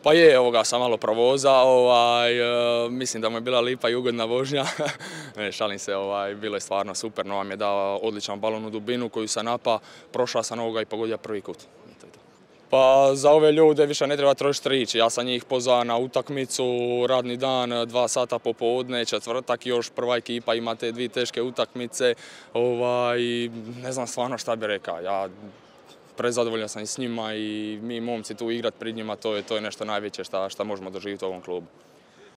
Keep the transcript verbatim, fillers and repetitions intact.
Pa je, ovoga sam malo provozao, ovaj, mislim da mu je bila lipa i ugodna vožnja. Ne, šalim se, ovaj, bilo je stvarno super, Nova mi je dao odličan balon u dubinu koju sam napa, prošao sam ovoga i pogodio prvi kut. Pa za ove ljude više ne treba trošiti riječi, ja sam njih pozvao na utakmicu, radni dan, dva sata popodne, četvrtak još prva ekipa ima te dvije teške utakmice, ovaj, ne znam stvarno šta bi rekao. Ja prezadovoljan sam i s njima i mi momci tu igrat pred njima, to je, to je nešto najveće šta, šta možemo doživjeti u ovom klubu.